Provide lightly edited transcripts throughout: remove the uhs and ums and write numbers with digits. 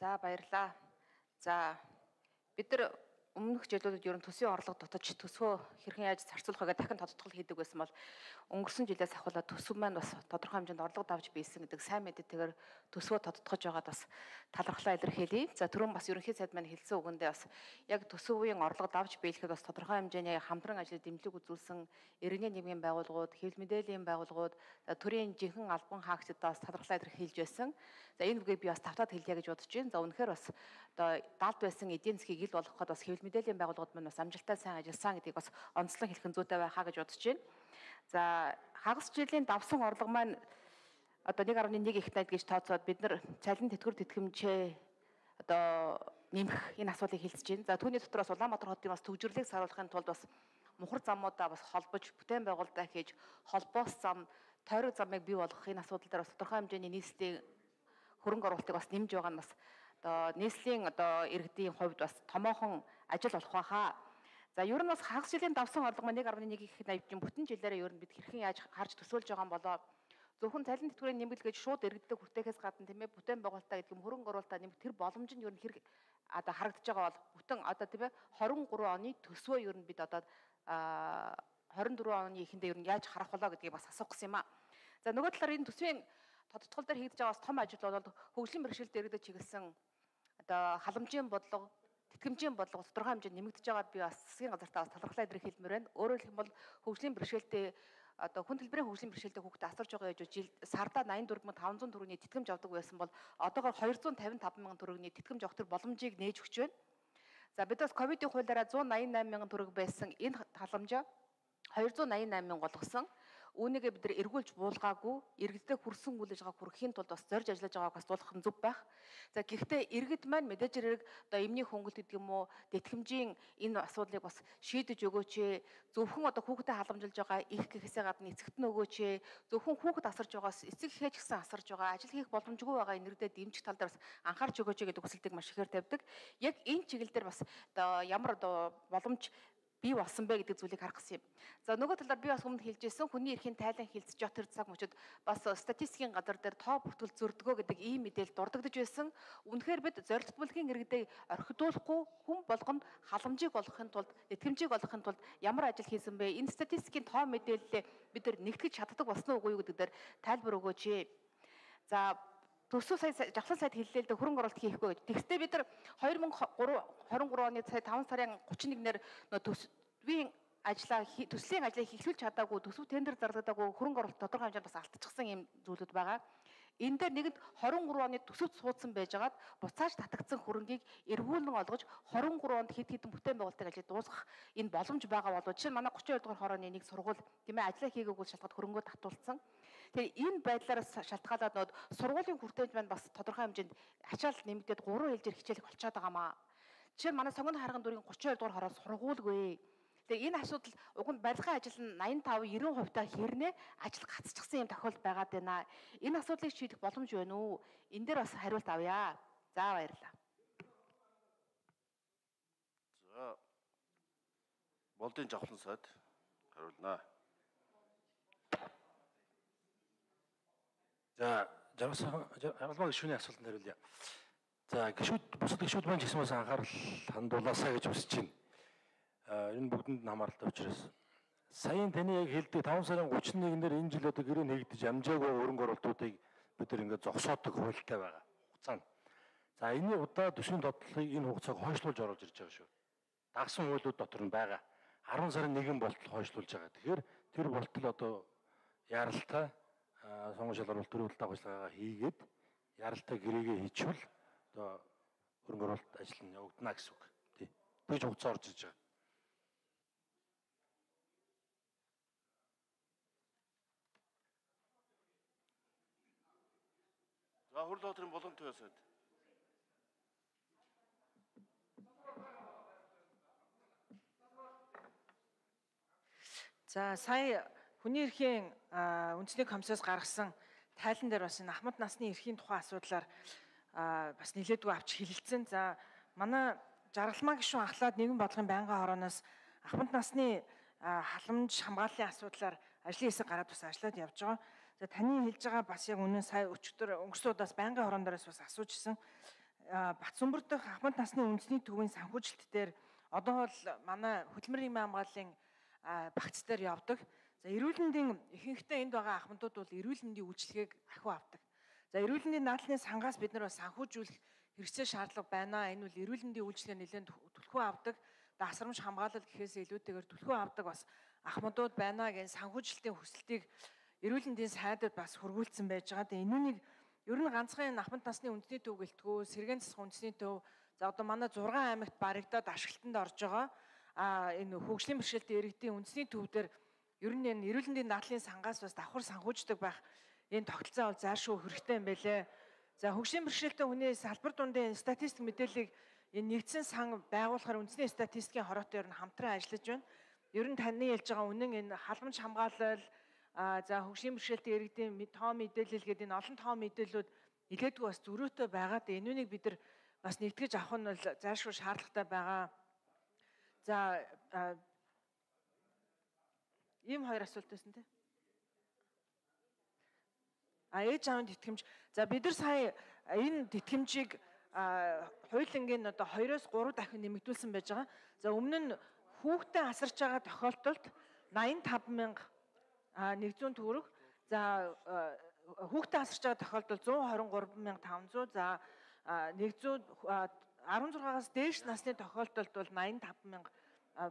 За баярлаа. За бид нар өмнөх жилүүдэд ер нь төсвийн орлого дутаж төсвөө хэрхэн яаж зарцуулах вэ дахин тодтогдол хийдэг байсан бол өнгөрсөн жилээс ахвалаа төсөв маань бас тодорхой хэмжээнд орлого давж биелсэн гэдэг сайн мэдээтэйгээр төсвөө тодтогдож байгаад бас талархлаа илэрхийлье. За түрүүн бас ерөнхий сайд маань хэлсэн үгэндээ бас яг төсвийн орлого давж биелэхэд бас тодорхой хэмжээний хамтран ажлыг дэмжлэг үзүүлсэн иргэний нийгмийн байгууллагууд, хэвлэл мэдээллийн байгууллагууд, төрийн жинхэнэ албан хаагчдад бас талархлаа илэрхийлж байсан. За энэ үгийг би бас тавтаад хэлье гэж бодож байна. За үнэхээр бас одоо далд байсан эдийн засгийг ил болгоход бас хэвлэл мэдээллийн байгууллагууд маань бас амжилттай сайн ажилласан гэдгийг бас онцлон хэлэх зүйтэй байхаа гэж бодож байна. За хагас жилийн давсан орлого маань одоо 1.1 их найд гэж тооцоод бид нар цалин тэтгэвэр тэтгэмжээ одоо нэмэх энэ асуудлыг хэлцэж байна. За түүний дотор бас Улаанбаатар хотын бас төвжирлийг саруулахын тулд бас мухар замуудаа бас холбож бүтээн байгуулалтаа хийж холбоос зам, тойрог замыг бий болгох энэ асуудал дээр бас тодорхой хэмжээний нийслэлийн хөрөнгө оруулалтыг бас нэмж байгаа нь бас одоо нийслэлийн одоо иргэдийн хувьд бас томоохон ажил болох байхаа. За ер нь бас хагас жилийн давсан орлого 1.1 их найдын бүтэн жилээрээ ер нь бид хэрхэн яаж харж төсөөлж байгаа юм болоо зөвхөн цалин тэтгэврийн нэмэлт гэж шууд иргэдэд хүртэхээс гадна тийм ээ бүтээн байгуулалтаа гэдэг юм хөрөнгө оруулалтаа нэмэх тэр боломж нь ер нь хэрэг одоо харагдаж байгаа бол бүтэн одоо тийм ээ 23 оны төсвөө ер нь бид одоо 24 оны эхэндээ ер нь яаж харах болоо гэдгийг бас асуух гэсэн юм аа. За нөгөө талаар энэ төсвийн тодтгол дээр хийгдэж байгаа том ажил бол хөгжлийн бэрхшээлд иргэдэд чиглэсэн одоо халамжийн бодлого, тэтгэмжийн бодлого тодорхой хэмжээнд нэмэгдэж байгаад би бас засгийн газартаа бас талархлаа илэрхийлмээр байна. Өөрөөр хэлэх юм бол хөгжлийн бэрхшээлтэй одоо хүн төлбөрийн хөгжлийн бэрхшээлтэй хүүхдэд асарж байгаа гэж жил сардаа 84,500 төгрөгийн тэтгэмж авдаг байсан бол одоогоор 255,000 төгрөгийн тэтгэмж авах төр боломжийг нээж өгч байна. За бид бас ковидын хуулиараа 188,000 төгрөг байсан энэ халамжаа 288,000 болгосон. Үүнийгээ бид нар эргүүлж буулгаагүй, иргэдэд хүрсэн үйл ажиллагааг хүргэхийн тулд бас зорж ажиллаж байгааг бас дуулах нь зөв байх. За гэхдээ иргэд маань мэдээж хэрэг одоо эмний хөнгөлт гэдэг юм уу, тэтгэмжийн энэ асуудлыг бас шийдэж өгөөч ээ. Зөвхөн одоо хүүхдэд халамжилж байгаа их гэхээсээ гадна эцэгт нь өгөөч ээ. Зөвхөн хүүхэд асарж байгаас эцэг эхээ ч гэсэн асарж байгаа, ажил хийх боломжгүй байгаа иргэдэд дэмжих тал дээр бас анхаарч өгөөч гэдэг хүсэлтийг маш ихээр тавьдаг. Яг энэ чиглэл дээр бас одоо ямар одоо боломж бий болсон бэ гэдэг зүйлийг харах гэсэн юм. За нөгөө талаар би бас өмнө хэлжсэн хүний эрхийн тайлан хилцэж явах тэр цаг мөчид бас статистикийн газар дээр тоо бүртгэл зөрдгөө гэдэг ийм мэдээлэл дурддагдж байсан. Үнэхээр бид зорилт бүлгийн иргэдэд орхидуулахгүй хүн болгонд халамжийг олгохын тулд, тэтгэмжийг олгохын тулд ямар ажил хийсэн бэ? Энэ статистикийн тоо мэдээллээ бид нар нэгтгэж чаддаг болсон уу үгүй юу гэдэг дээр тайлбар өгөөч ээ. За төсөв сая жавхлан сайд хэллээ л дээ хөрөнгө оруулалт хийхгүй гэж. Тэгвэл бид нар 2023 оны сая 5 сарын 31-нд төсвийн ажлаа төслийн ажлыг эхлүүлж чадаагүй, төсөв тендер зарлагдаагүй хөрөнгө оруулалт тодорхой хэмжээнд бас алдчихсан юм зүйлүүд байгаа. Энэ дээр нэгэнд 23 оны төсөвт суудсан байжгаад буцааж татагдсан хөрөнгийг эргүүлэн олгож 23 онд хэд хэдэн бүтээн байгуулалтыг ажил дуусгах энэ боломж байгаа болов. Жишээ нь манай 32 дугаар хорооны нэг сургууль тийм ээ ажлаа хийгээгүй шалтгаад хөрөнгөө татуулсан. Тэгэхээр энэ байдлаараас шалтгаалаад нод сургуулийн хүртээмж маань бас тодорхой хэмжээнд ачаал нэмэгдээд 3 ээлжээр хичээлэг болчиход байгаамаа. Жишээ нь манай Сонгон харган дүрийн 32 дугаар хороо сургуульгүй. Тэгээ энэ асуудал уг нь барилгын ажил нь 85-90% та хэрнээ ажил гацчихсан юм тохиолдол байгаад байна. Энэ асуудлыг шийдэх боломж байна уу? Энэ дээр бас хариулт авъя. За баярлалаа. За болдын жавхлан сайд хариулнаа. За жаргалмаа гишүүний асуултанд хариулъя. За бусад гишүүд маань ч гэсэн бас анхаарал хандуулаасаа гэж хүсэж байна. Энэ бүгдэнд нь хамааралтай учраас саяын таны яг хэлдэг 5 сарын 31-нд энэ жил одоо гэрээ нэгдэж амжаагүй хөрөнгө оруулалтуудыг бид нар ингээд зогсоодог хуультай байгаа хугацаанд. За энэний удаа төсвийн тодтолыг энэ хугацааг хойшлуулж оруулж ирж байгаа шүү. Дагсан хуулиуд дотор нь байгаа 10 сарын 1 болтол хойшлуулж байгаа. Тэгэхээр тэр болтол одоо яралтай сонгон шалгаруулалт төрөлт агуулгаагаа хийгээд яралтай гэрээгээ хийчихвэл одоо хөрөнгө оруулалт ажил нь явагдана гэсэн үг. Тий. Тэгж хугацаа орж иж байгаа. За Хурал хотын Булган Туяа сайд. За сая хүний эрхийн үндэсний комиссоос гаргасан тайлан дээр бас энэ ахмад насны эрхийн тухай асуудлаар бас нэлээдгүй авч хэлэлцэн. За манай жаргалмаа гишүүн ахлаад нэгэн бодлогын байнгын хорооноос ахмад насны халамж хамгааллын асуудлаар ажлын хэсэг гараад бас ажиллаад явж байгаа. За таны хэлж байгаа бас яг үнэн сая өчигдөр өнгөрсөн удаас байнгын хорон дээрээс бас асуужсэн. Батсүмбэр дахь Ахмад насны үндэсний төвийн санхүүжилт дээр одоо бол манай хөдөлмөрийн нийгмийн хамгааллын багц дээр явдаг. За эрүүл мэндийн ихэнхдээ энд байгаа ахмадууд бол эрүүл мэндийн үйлчилгээг ахиу авдаг. За эрүүл мэндийн наадмын сангаас бид нар бас санхүүжүүлэх хэрэгцээ шаардлага байна. Энэ бол эрүүл мэндийн үйлчилгээ нэлээд түлхүү авдаг. Дасрамж хамгаалал гэхээс илүүтэйгээр түлхүү авдаг бас ахмадууд байна гэж санхүүжилтийн хүсэлтийг эрүүл мэндийн сайдад бас хургуулсан байж байгаа. Тэгээ энүүнийг ер нь ганцхан Ахмад насны үндэсний төв гэлтгүү, Сэргээн засах үндэсний төв, за одоо манай 6 аймагт баригдаад ашиглалтанд орж байгаа. Энэ хөгжлийн бэрхшээлтэй иргэдийн үндэсний төв дээр ер нь энэ эрүүл мэндийн дадлын сангаас бас давхар санхүүждэг байх энэ тогтолцоо бол зайлшгүй хэрэгтэй юм байлээ. За хөгжлийн бэрхшээлтэй хүний салбар дундын статистик мэдээллийг энэ нэгдсэн сан байгуулахаар үндэсний статистикийн хороотой ер нь хамтран ажиллаж байна. Ер нь таны хэлж байгаа үнэн энэ халамж хамгаалал, за хөгжлийн бэрхшээлтэй иргэдийн тоо мэдээлэл гэдэг энэ олон тоо мэдээллүүд илгээдгүй бас зөрүүтэй байгаа. Энүүнийг бид нар бас нэгтгэж авах нь бол зайлшгүй шаардлагатай байгаа. За ийм хоёр асуулт байсан тийм. Ээж аавын тэтгэмж. За бид нар сая энэ тэтгэмжийг хуулингийн одоо 2-оос 3 дахин нэмэгдүүлсэн байж байгаа. За өмнө нь хүүхдээ асарч байгаа тохиолдолд 85,100 төгрөг. За хүүхдээ асарч байгаа тохиолдолд 123,500. За 16-аас дээш насны тохиолдолд бол 85,000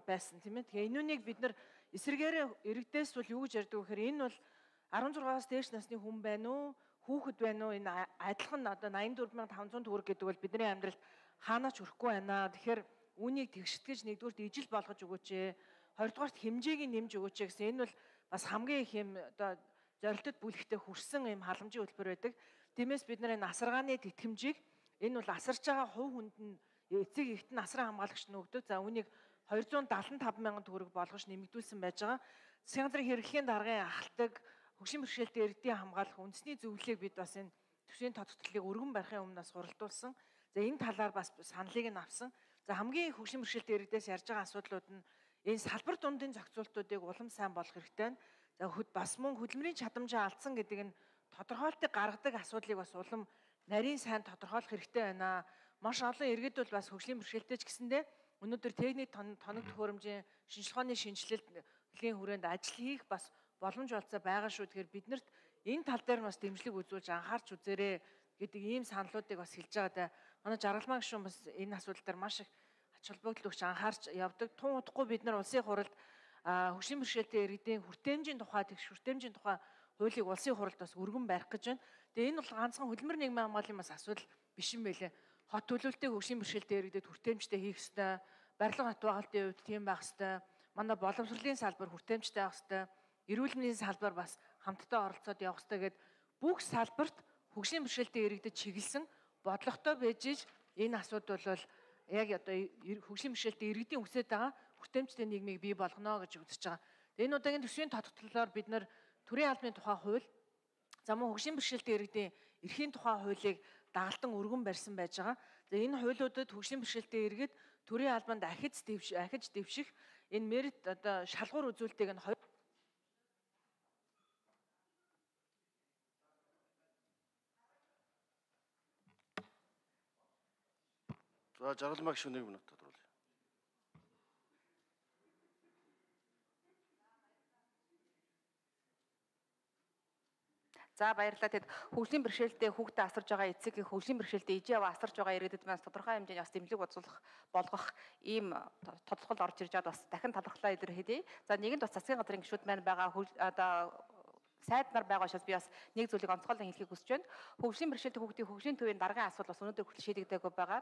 байсан тийм ээ. Тэгээ энүүнийг бид нар эсэргээрээ иргэдээс бол юу гэж ярьдаг вэ гэхээр энэ бол 16-аас дээш насны хүн байна уу, хүүхэд байна уу, энэ адилхан одоо 84,500 төгрөг гэдэг бол бидний амьдралд хаанаач хүрэхгүй байна. Тэгэхээр үүнийг тэгштгэж нэгдүгürt ижил болгож өгөөч ээ. Хоёрдугаарт хэмжээг нь нэмж өгөөч гэсэн. Энэ бол бас хамгийн их юм одоо зорилтод бүлэгтээ хүрсэн юм халамжийн хөтөлбөр байдаг. Тиймээс бид нар энэ асаргааны тэтгэмжийг энэ бол асарч байгаа хувь хүнд нь эцэг эхт нь асран хамгаалагч нь өгдөг. За үүнийг 275,000 төгрөг болгож нэмэгдүүлсэн байж байгаа. Засгийн газрын хэрэглэхийн даргын ахалдаг хөгжлийн бэрхшээлтэй иргэдийн хамгаалах үндэсний зөвлөлийг бид бас энэ төсвийн тодтолтыг өргөн барихын өмнө бас хуралдуулсан. За энэ талаар бас саналыг нь авсан. За хамгийн хөгжлийн бэрхшээлтэй иргэдээс ярьж байгаа асуудлууд нь энэ салбар дундын зохицуултуудыг улам сайн болгох хэрэгтэй байна. За бас мөн хөдөлмөрийн чадамжаа алдсан гэдэг нь тодорхойлтыг гаргадаг асуудлыг бас улам нарийн сайн тодорхойлох хэрэгтэй байна. Маш олон иргэд бол бас хөгжлийн бэрхшээлтэй ч гэсэндээ өнөөдөр техник тоног төхөөрөмжийн шинжилгээ ухааны шинжилгээлийн хүрээнд ажил хийх бас боломж олцоо байгаа шүү. Тэгэхээр биднэрт энэ тал дээр бас дэмжлэг үзүүлж анхаарч үзээрэй гэдэг ийм саналуудыг бас хэлж байгаа. Манай жаргалмаа гишүүн бас энэ асуудал дээр маш их ач холбогдол өгч анхаарч явдаг. Тун удахгүй бид нар улсын хуралд хөгжлийн бэрхшээлтэй иргэдийн хүртээмжийн тухай тэгш хүртээмжийн тухай хуулийг улсын хуралд бас өргөн барих гэж байна. Тэгээ энэ бол ганцхан хөдөлмөр нийгмийн хамгааллын бас асуудал биш юм байлээ. Хот төлөвлөлтөй хөгжлийн бэрхшээлтэй иргэдэд хүртээмжтэй хийх ёстой. Барилга хот байгуулалтын хувьд тийм байх ёстой. Манай боловсролын салбар хүртээмжтэй байх ёстой. Эрүүл мэндийн салбар бас хамтдаа оролцоод явах ёстой гэд бүх салбарт хөгжлийн бэрхшээлтэй иргэдэд чиглэсэн бодлоготой байж энэ асуудал бол яг одоо хөгжлийн бэрхшээлтэй иргэдийн үсээд байгаа хүртээмжтэй нийгмийг бий болгоно гэж үзэж байгаа. Энэ удаагийн төсвийн тодтолтолоор бид нар төрийн албаны тухай хууль, за мөн хөгжлийн бэрхшээлтэй иргэдийн эрхийн тухай хуулийг дагалдан өргөн барьсан байж байгаа. За энэ хуулиудад хөгжлийн бэрхшээлтэй иргэд төрийн албанд ахиж дэвших энэ мерит одоо шалгуур үзүүлэлтийг нь За жаргалмаа гишүүн 1 минут тодруулъя. За баярлалаа. Тэгэд хөгжлийн бэрхшээлтэй хүүхдээ асарж байгаа эцэг хөгжлийн бэрхшээлтэй ижээ аваа асарж байгаа иргэдэд маань тодорхой хэмжээний бас дэмжлэг болгох ийм тодорхойлол орж ирж байгаа бас дахин талархлаа илэрхийлье. За нэгэнд бас засгийн газрын гишүүд маань байгаа одоо сайд нар байгаа учраас би бас нэг зүйлийг онцгойлон хэлхийг хүсэж байна. Хөгжлийн бэрхшээлтэй хүүхдийн хөгжлийн төвийн даргын асуудал бас өнөөдөр хүртэл шийдэгдээгүй байгаа.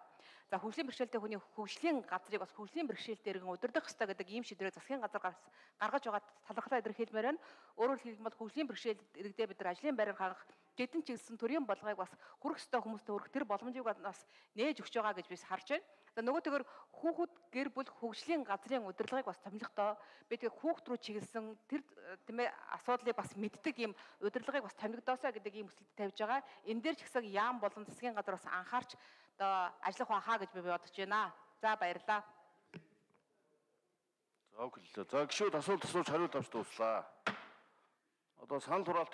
За хөгжлийн бэрхшээлтэй хүний хөгжлийн газрыг бас хөгжлийн бэрхшээлтэй иргэн удирдах ёстой гэдэг ийм шийдвэрийг засгийн газар гаргаж байгаа талархлаа илэрхийлмээр байна. Өөрөөр хэлбэл хөгжлийн бэрхшээл иргэдэд бид нар ажлын байраар хангах хэдэн ч гэсэн төрийн бодлогыг бас хүрэх ёстой хүмүүстээ хүрэх тэр боломжийг бас нээж өгч байгаа гэж би харж байна. За нөгөөтэйгөр хүүхэд гэр бүл хөгжлийн газрын удирдлагыг бас томилохдоо бид хүүхэд рүү чиглэсэн тэр тийм ээ асуудлыг бас мэддэг ийм удирдлагыг бас томилогдоосоо гэдэг ийм хүсэлт тавьж байгаа. Энэ дээр ч гэсэн яам болон засгийн газар бас анхаарч одоо ажиллах байхаа гэж би бодож байна. За баярлалаа. За өглөө. За гişүүд асуулт асууж хариулт авч дууслаа. Одоо санал хураалт